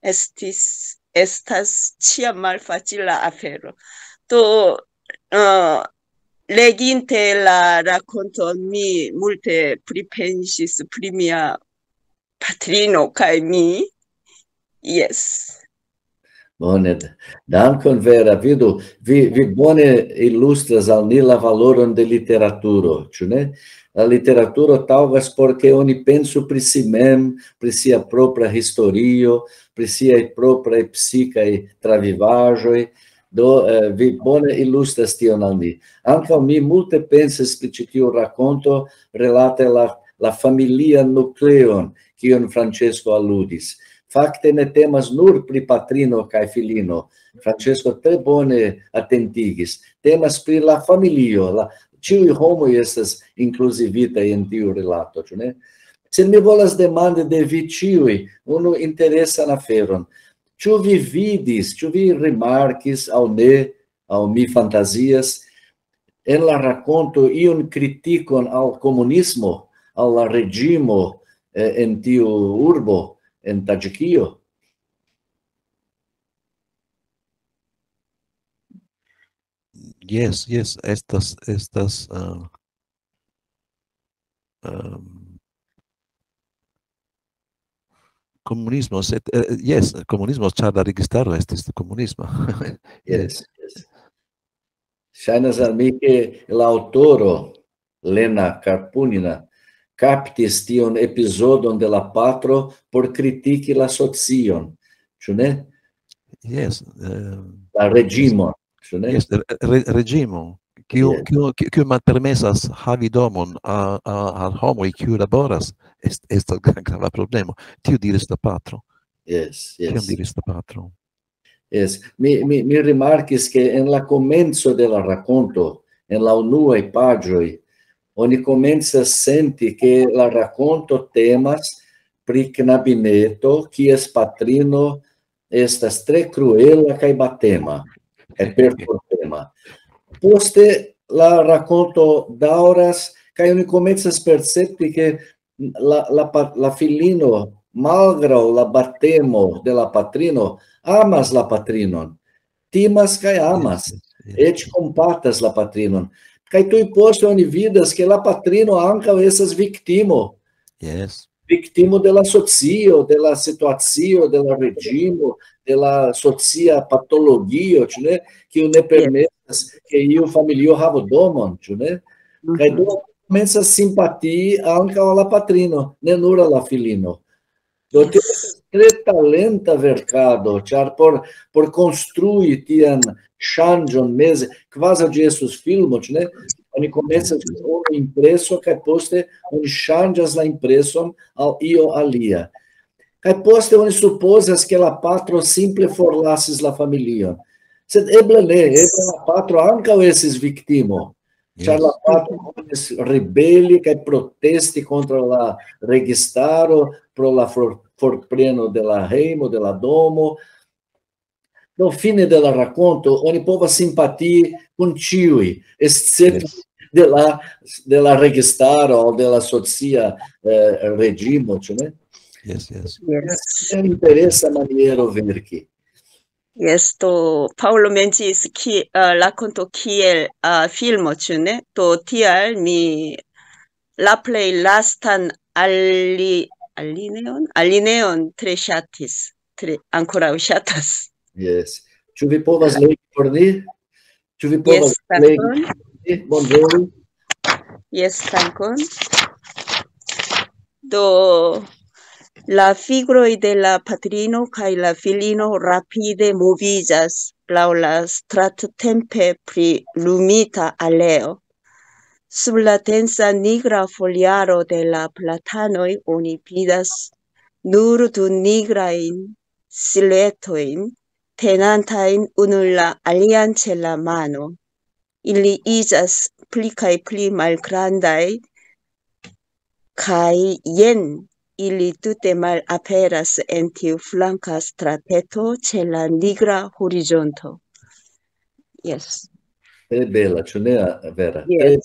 estis, estas ĉiam malfacila afero. Do, eh, leginte la rakonton, mi multe pripensis pri mia patrino kaj mi. Yes. Bone, dankon, Vera. Vidu, vi, vi bone ilustras al ni la valoron de literaturo, ĉu ne? La literaturo taŭgas por ke oni pensu pri si mem, pri sia propra historio, pri siaj propraj psikaj travivaĵoj. Do, eh, vi bone ilustras tion al ni. Ankaŭ mi multe pensis pri ĉi tiu rakonto relate la, la familian nukleon, kion Francesco aludis. Fakte ne temas nur pri patrino kaj filino. Francesco tre bone atentigis. Temas pri la familio, la, ĉiuj homoj estas inkluzivitaj en tiu rilato, ĉu ne? Sed mi volas demandi de vi ĉiuj unu interesan aferon. Ĉu vi vidis, ĉu vi rimarkis aŭ ne, aŭ mi fantazias, en la rakonto iun kritikon al komunismo, al la reĝimo, eh, en tiu urbo, en Taĝikio? Jes, jes, estas, estas, ah, ehm, komunismo, sed, eh, jes, komunismo, ĉar la registaro estis komunisma. Jes, jes. Jes. Ŝajnas al mi, ke la aŭtoro, Lena Karpunina, kaptis tiun epizodon de la patro por kritiki la socion, ĉu ne? Jes, eh, La reĝimon, ĉu ne? Jes, re-, re-, reĝimo, Kiu, Yes. kiu, kiu, kiu malpermesas havi domon a, a, al homoj, kiu laboras, est, estas gra-, grava problemo. Tio diris la patro. Yes, Tion yes. Diris la patro. Yes. Mi, mi, mi rimarkis, ke en la komenco de la rakonto, en la unuaj paĝoj, oni komencas senti, ke la rakonto temas pri knabineto, kies patrino estas tre kruela kaj batema, kaj perfortema. Poste la rakonto daŭras, kaj oni komencas percepti, ke la, la, pa- la filino, malgraŭ la batemo de la patrino, amas la patrinon, timas kaj amas, Yes, yes, eĉ kompatas la patrinon. Kaj tuj poste oni vidas, ke la patrino ankaŭ estas viktimo, yes. Viktimo de la socio, de la situacio, de la reĝimo, de la socia patologio, ĉu ne? Kiu ne permesas, ke iu familio havu domon, ĉu ne? Kaj do komencas simpatii ankaŭ al la patrino, ne nur al la filino. Do tio estas tre talenta verkado, ĉar por, por konstrui tian ŝanĝon meze, kvazaŭ ĝi estus filmo, ĉu ne? Oni komencas kun unu impreso, kaj poste oni ŝanĝas la impreson al io alia. Kaj poste oni supozas, ke la patro simple forlasis la familion. Sed eble ne, eble la patro ankaŭ estis viktimo. Ĉar la patro komencas ribeli kaj protesti kontraŭ la registaro pro la for-, forpreno de la hejmo, de la domo. Do fine de la rakonto oni povas simpatii kun ĉiuj, escepte de la, de la registaro aŭ de la socia, eh, reĝimo, ĉu ne? Yes, yes. Yes. Tre interesa maniero verki. Yes, do Paŭlo menciis ki, uh, rakonto kiel, uh, filmo, ĉu ne? Do tial mi la plej lastan ali-, alineon, alineon tre ŝatis, tre ankoraŭ ŝatas. Yes. Ĉu vi povas legi por ni? Ĉu vi povas Yes, legi dankon. por ni? Bonvolu. Yes, dankon. Do, la figuroj de la patrino kaj la filino rapide moviĝas laŭ la strattempe pli lumita aleo. Sub la densa nigra foliaro de la platanoj oni vidas nur du nigrajn siluetojn tenantajn unu la alian ĉe la mano. Ili iĝas pli kaj pli malgrandaj, kaj jen ili tute malaperas en tiu flanka strateto ĉe la nigra horizonto. Yes. Tre bela, ĉu ne, Vera? Yes.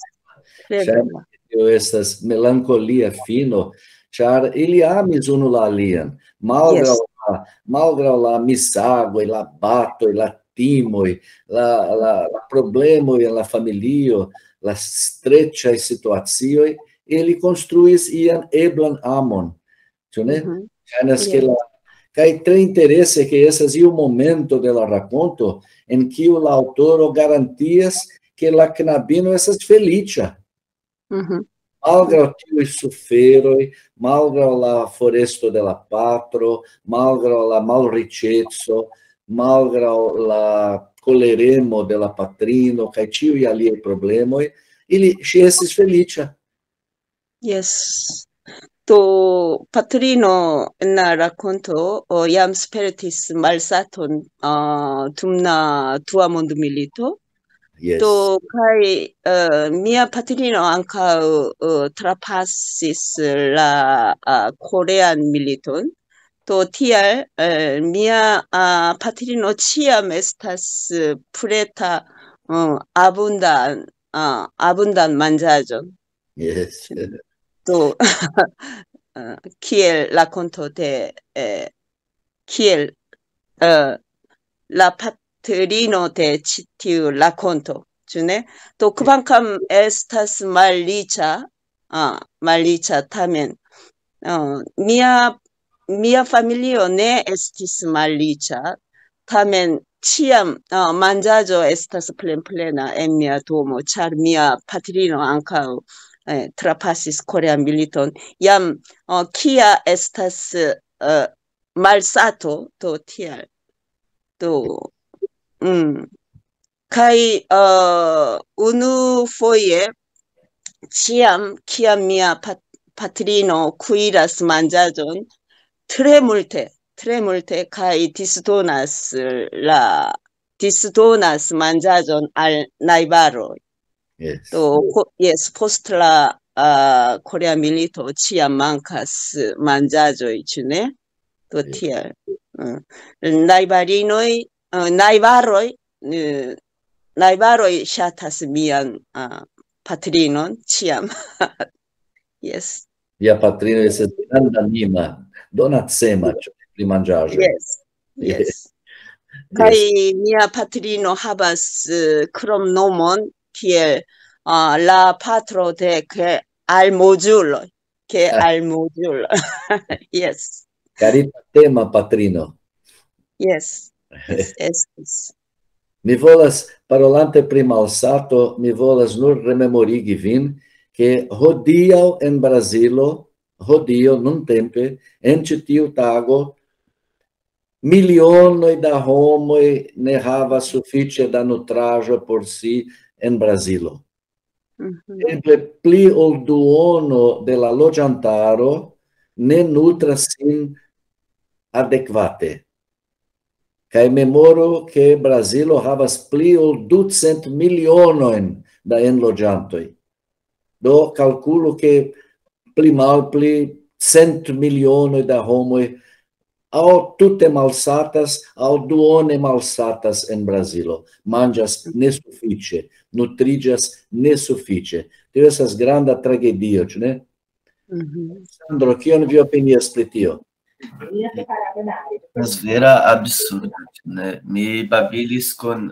Tre Ĉar bela. Tio estas melankolia fino, ĉar ili amis unu la alian, malgraŭ la, malgraŭ la misagoj, la batoj, la timoj, la, la, la problemoj en la familio, la streĉaj situacioj, ili konstruis ian eblan amon. Ĉu ne? Mhm. Ŝajnas, ke Yes. la, kaj tre interese, ke estas iu momento de la rakonto en kiu la aŭtoro garantias, ke la knabino estas feliĉa. Mhm. Malgraŭ tiuj suferoj, malgraŭ la foresto de la patro, malgraŭ la malriĉeco, malgraŭ la koleremo de la patrino kaj ĉiuj aliaj problemoj, ili, ŝi estis feliĉa. Yes. Do patrino en la rakonto, o, jam spertis malsaton, a, dum la dua mondmilito. Yes. Do kaj, eh, mia patrino ankaŭ, eh, trapasis la, a, korean militon. Do tial, eh, mia, a, patrino ĉiam estas, eh, preta, mm, abundan, a, abundan manĝaĵon. Yes. Do, eh, kiel rakonto de, eh, kiel, eh, la patrino de ĉi tiu rakonto, ĉu ne? Do kvankam estas malriĉa, a, malriĉa, tamen, a, mia, mia familio ne estis malriĉa, tamen ĉiam, a, manĝaĵo estas plenplena en mia domo, ĉar mia patrino ankaŭ, eh, trapasis korean militon. Jam, a, kia estas, eh, malsato, do tial. Do, mm, Kaj uh, unu foje, ĉiam, kiam mia pat patrino kuiras manĝaĵon, tre multe, tre multe, kaj disdonas la disdonas manĝaĵon al najbaroj. Yes. Do, yes, post la uh, Korea milito ĉiam mankas manĝaĵoj, ĉu ne? Do tiel. Uh, najbarinoj, uh, najbaroj, uh, najbaroj ŝatas mian uh, patrinon, ĉiam. Yes. Via patrino estas granda anima, donacema, ĉu ne, pri manĝaĵo. Yes. Yes. Kaj mia patrino havas uh, kromnomon kiel uh, la patro de ke almozuloj, ke almozuloj. Yes. Karitatema patrino. Yes. Yes, yes. Mi volas, parolante pri malsato, mi volas nur rememorigi vin, ke hodiaŭ en Brazilo, hodiaŭ, nuntempe, en ĉi tiu tago, milionoj da homoj ne havas sufiĉe da nutraĵo por si en Brazilo. Eble pli ol duono de la loĝantaro ne nutras sin adekvate. Kaj memoru, ke Brazilo havas pli ol ducent milionojn da enloĝantoj. Do kalkulu, ke pli malpli cent milionoj da homoj aŭ tute malsatas, aŭ duone malsatas en Brazilo. Manĝas nesufiĉe, nutriĝas nesufiĉe. Tio estas granda tragedio, ĉu ne? Sandro, kion vi opinias pri tio? Estas vera absurdo, ĉu ne? Mi babilis kun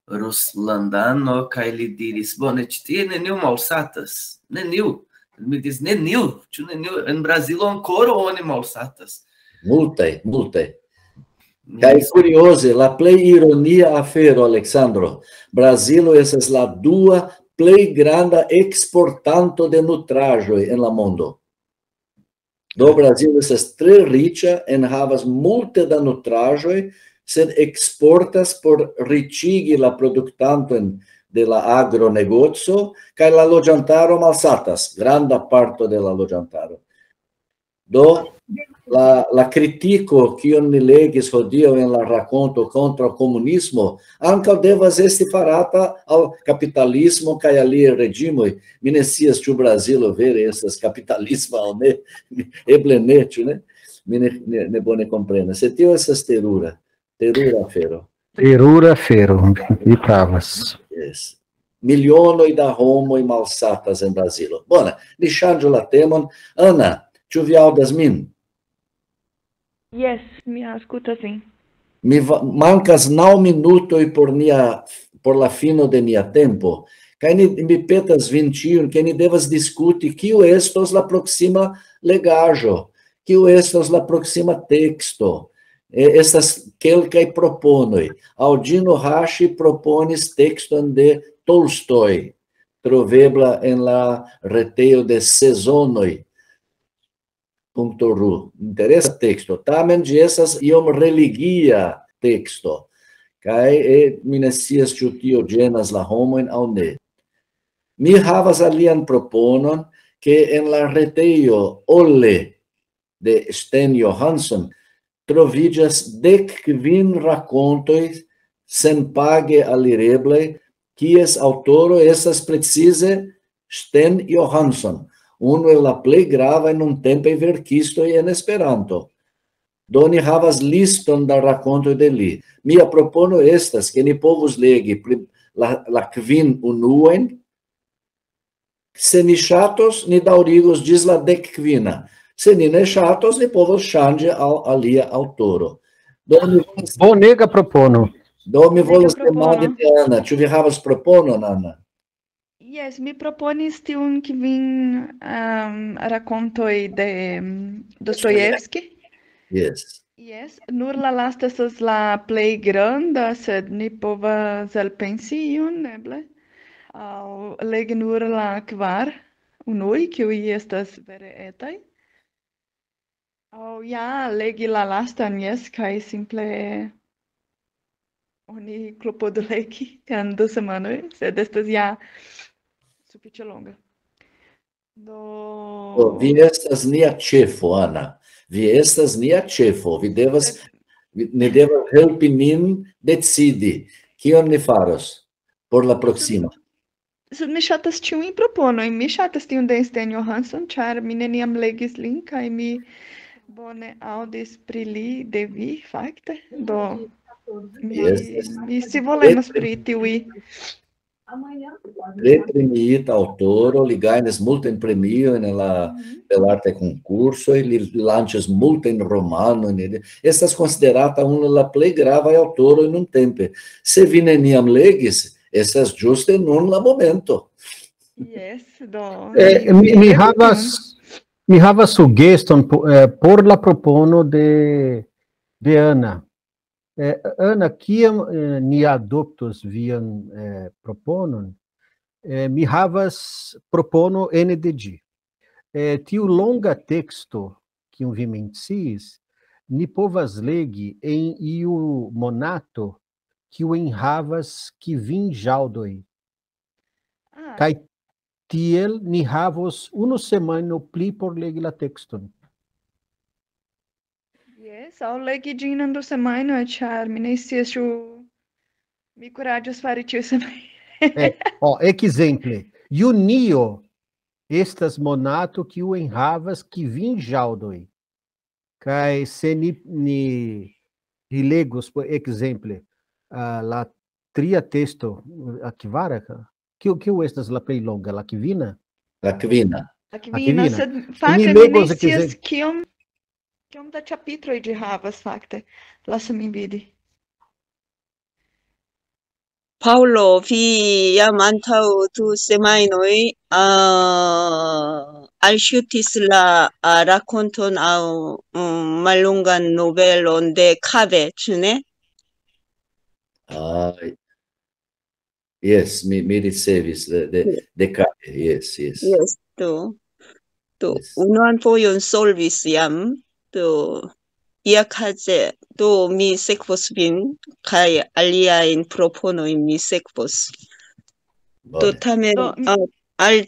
ruslandano kaj li diris: "Bone, ĉi tie neniu malsatas." Neniu. Mi diris: "Neniu, ĉu neniu? En Brazilo ankoraŭ oni malsatas." Multaj, multaj. Kaj kurioze, la plej ironia afero, Aleksandro, Brazilo estas la dua plej granda eksportanto de nutraĵoj en la mondo. Do Brazilo estas tre riĉa, enhavas multe da nutraĵoj, sed eksportas por riĉigi la produktantojn de la agronegoco, kaj la loĝantaro malsatas, granda parto de la loĝantaro. Do la, la kritiko, kion ni legis hodiaŭ en la rakonto kontraŭ komunismo, ankaŭ devas esti farata al kapitalismo kaj aliaj reĝimoj. Mi ne scias, ĉu Brazilo vere estas kapitalisma aŭ ne. Eble ne, ĉu ne? Mi ne, ne, ne bone komprenas. Sed tio estas terura, terura afero. Terura afero, vi pravas. Yes. Milionoj da homoj malsatas en Brazilo. Bone, ni ŝanĝu la temon. Ana, ĉu vi aŭdas min? Yes, mi aŭskultas vin. Mi va-, mankas naŭ minutoj por nia, por la fino de nia tempo. Kaj ni, mi petas vin ĉiujn, ke ni devas diskuti, kiu estos la proksima legaĵo, kiu estos la proksima teksto. E, estas kelkaj proponoj. Aŭ Ĝino Haŝi proponis tekston de Tolstoj, trovebla en la retejo de Sezonoj. Punto ru. Interesa teksto. Tamen ĝi estas iom religia teksto. Kaj, e, mi ne scias, ĉu tio ĝenas la homojn aŭ ne. Mi havas alian proponon, ke en la retejo Olle de Sten Johansson troviĝas dek kvin rakontoj senpage alireblaj, kies aŭtoro estas precize Sten Johansson, unu el la plej gravaj nuntempaj verkistoj en Esperanto. Do ni havas liston da rakontoj de li. Mia propono estas, ke ni povus legi pri la, la kvin unuajn. Se ni ŝatos, ni daŭrigos ĝis la dek kvina. Se ni ne ŝatos, ni povos ŝanĝi al alia aŭtoro. Do mi volas, Bonega propono. do mi volas Bonega propono. Demandi de Ana, ĉu vi havas proponon, Ana? Yes, mi proponis tiun kvin um, rakontoj de um, Dostojevski. Yes. Yes, nur la lasta estas la plej granda, sed ni povas elpensi iun, eble. Aŭ legi nur la kvar unuj, kiuj estas vere etaj. Aŭ ja, legi la lastan, yes, kaj simple oni klopodu legi en du semajnoj, sed estas ja sufiĉe longa. Do Oh, vi estas nia ĉefo, Ana. Vi estas nia ĉefo. Vi devas, vi, ni devas helpi nin decidi, kion ni faros por la proksima. Sed mi ŝatas ĉiujn proponojn. Mi ŝatas tiun de Sten Johansson, ĉar mi neniam legis lin, kaj mi bone aŭdis pri li de vi, fakte. Do mi, Yes, yes. Mi scivolemas pri tiuj. Tre premiita aŭtoro, li gajnis multajn premiojn en la belartaj konkursoj, li lanĉas multajn romanojn, li estas konsiderata unu el la plej gravaj aŭtoroj nuntempe. Se vi neniam legis, estas ĝuste nun la momento. Yes, do Eh, mi, mi legu havas, tion. Mi havas sugeston po- eh, por la propono de, de Ana. Eh, Ana, kiam eh, ni adoptos vian eh, proponon, eh, mi havas propono ene de ĝi. Eh, tiu longa teksto, kiun vi menciis, ni povas legi en iu monato, kiu enhavas kvin ĵaŭdoj. Ah, Kaj tiel ni havos unu semajno pli por legi la tekston. Yes, aŭ legi ĝin en du semajnoj, ĉar mi ne scias, ĉu mi kuraĝos fari ĉiu semajno. Eh, oh, ekzemple, junio estas monato kiu enhavas kvin ĵaŭdoj. Kaj se ni, ni, ni legos, por ekzemple, ah, la tria testo, la kvara, ka- kiu, kiu estas la plej longa, la kvina? La kvina. La kvina, Sed fakte mi ne legos, scias ekzemple- kiom, kiom da ĉapitroj ĝi havas, fakte. Lasu min vidi. Paŭlo, vi jam antaŭ du semajnoj uh, alŝutis la uh, rakonton aŭ um, mallongan novelon de Kave, ĉu ne? Ah, yes, mi, mi ricevis de, de, de Kave, yes, yes. Yes, do, do Yes. Unuan fojon solvis jam, do ia kaze, do mi sekvos vin, kaj aliajn proponojn mi sekvos. Do Bone. tamen Do, mi- uh, al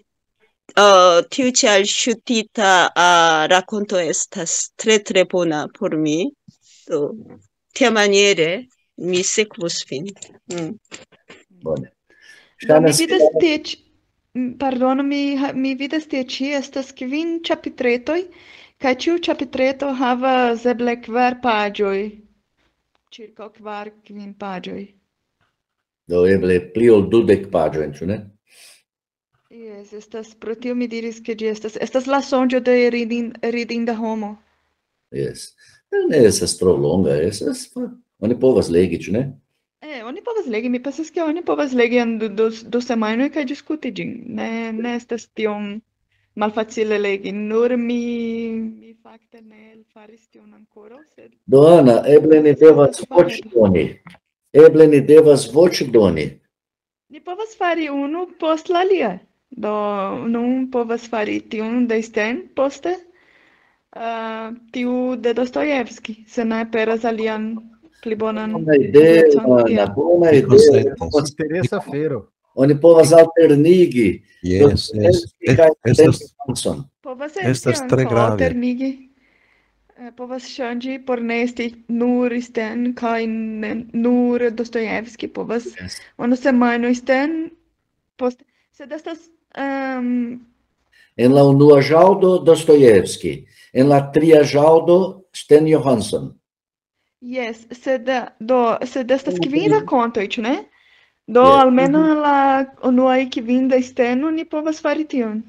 uh, tiu ĉi alŝutita uh, rakonto estas tre tre bona por mi. Do tiamaniere mi sekvos vin. Mm. Bone. Do mi Ŝajnas, vidas tie ĉi, m, pardonu, mi, ha- mi vidas tie ĉi estas kvin ĉapitretoj, kaj ĉiu ĉapitreto havas eble kvar paĝoj, ĉirkaŭ kvar, kvin paĝoj. Do eble pli ol dudek paĝojn, ĉu ne? Yes, estas, pro tio mi diris, ke ĝi estas, estas la sonĝo de ridin, ridinda homo. Yes. Ne estas tro longa, estas, oni povas legi, ĉu ne? Eh, oni povas legi, mi pensas, ke oni povas legi en du, du, du semajnoj kaj diskuti ĝin. Ne, ne estas tiom malfacile legi, nur mi, mi fakte ne elfaris tion ankoraŭ, sed Do, Ana, eble ni devas voĉdoni. Eble ni devas voĉdoni. Ni povas fari unu post la alia. Do, nun povas fari tiun de Sten, poste uh, tiu de Dostojevski, se ne aperas alian pli bonan Bona ideo, eblecon, Ana, tiel. Bona Mi ideo. konsentas. Interesa afero. Oni povas alternigi. Yes, yes. Dostojevski kaj Es- Sten estas- Johansson. Povas Estas esti tre ankaŭ grave. Alternigi. Eh, povas ŝanĝi por ne esti nur Sten kaj ne, nur Dostojevski. Povas Yes. Unu semajno Sten, post, sed estas um, En la unua ĵaŭdo Dostojevski, en la tria ĵaŭdo Sten Johansson. Yes, sed do, sed estas Unu kvin semajno. Rakontoj, ĉu ne? Do, Yes. Almenaŭ la unua kvin de Steno ni povas fari tion.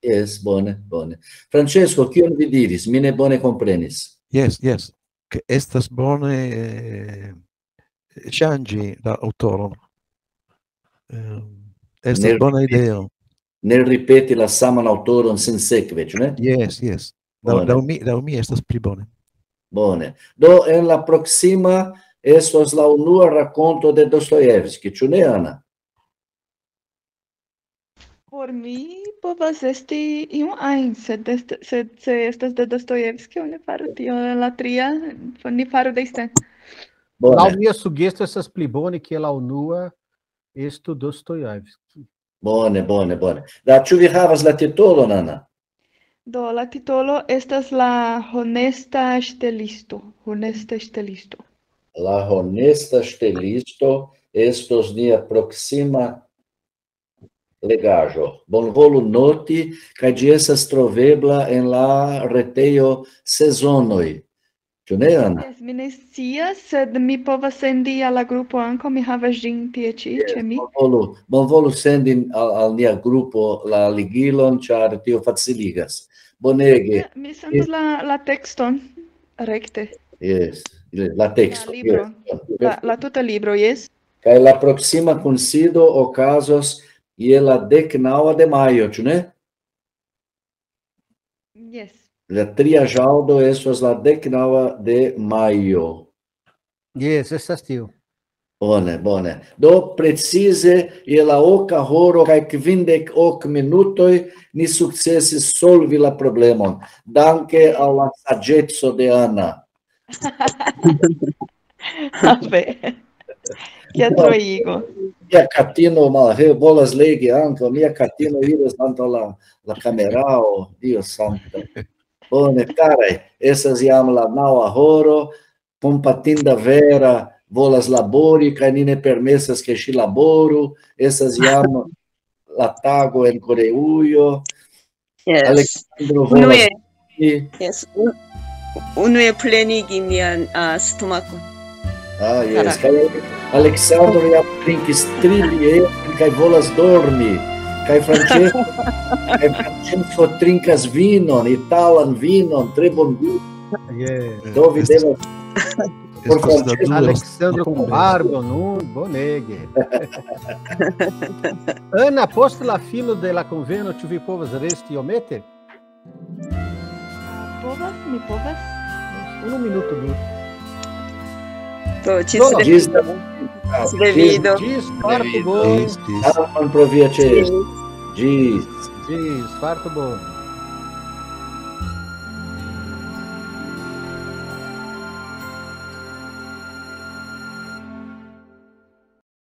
Yes, bone, bone. Francesco, kion vi diris? Mi ne bone komprenis. Yes, yes. Ke estas bone eh, ŝanĝi la aŭtoron. Eh, estas Ne bona ripeti. Ideo. Ne ripeti la saman aŭtoron sinsekve, ĉu ne? Yes, yes. Laŭ Bone. laŭ mi, laŭ mi estas pli bone. Bone. Do, en la proksima estos la unua rakonto de Dostojevski, ĉu ne, Ana? Por mi povas esti iu ajn, sed est, sed se estas de Dostojevski, oni faru tion en la tria, ni faru de Sten. Laŭ mia sugesto estas pli bone ke la unua estu Dostojevski. Bone, bone, bone. Da, ĉu vi havas la titolon, Ana? Do, la titolo estas la honesta ŝtelisto. Honesta ŝtelisto. La honesta ŝtelisto estos nia proksima legaĵo. Bonvolu noti, kaj ĝi estas trovebla en la retejo Sezonoj. Ĉu ne, Ana? Jes, mi ne scias, sed mi povas sendi al la grupo ankaŭ, mi havas ĝin tie ĉi ĉe mi. Bonvolu, bonvolu sendi al, al nia grupo la ligilon, ĉar tio faciligas. Bonege. Mi sendas la, la tekston rekte. Jes, la teksto. La libro. La, la tuta libro, jes. Kaj la proksima kunsido okazos je la dek naŭa de majo, ĉu ne? Jes. La tria ĵaŭdo estos la dek naŭa de majo. Jes, estas tio. Bone, bone. Do, precize je la oka horo kaj kvindek ok minutoj ni sukcesis solvi la problemon. Danke al la saĝeco de Ana. Ave. Kia troigo. Mia katino malhe volas legi ankaŭ. Mia katino iras antaŭ la, la kamerao. Dio sankta. Bone, karaj, estas jam la naŭa horo. Kompatinda Vera volas labori, kaj ni ne permesas, ke ŝi laboru. Estas jam la tago en Koreujo. Yes. Aleksandro Unue, volas. yes. Un, unue plenigi mian uh, stomako. Ah, yes. Kaj Aleksandro jam trinkis tri bier kaj volas dormi. Kaj Francesco, kaj Francesco trinkas vinon, italan vinon, tre bongusta. Yes. Do vi devas por Estas la Francesco. dua Aleksandro kun barbo nun, bonege. Ana, post la fino de la konveno, ĉu vi povas resti iomete? Povas, mi povas. Unu minuto nur. Do, ĝis No, Ĝis revido. Ĝis revido. Ĝis, fartu bone. Estis. Dankon pro via ĉeesto. Ĝis. Ĝis, fartu bone.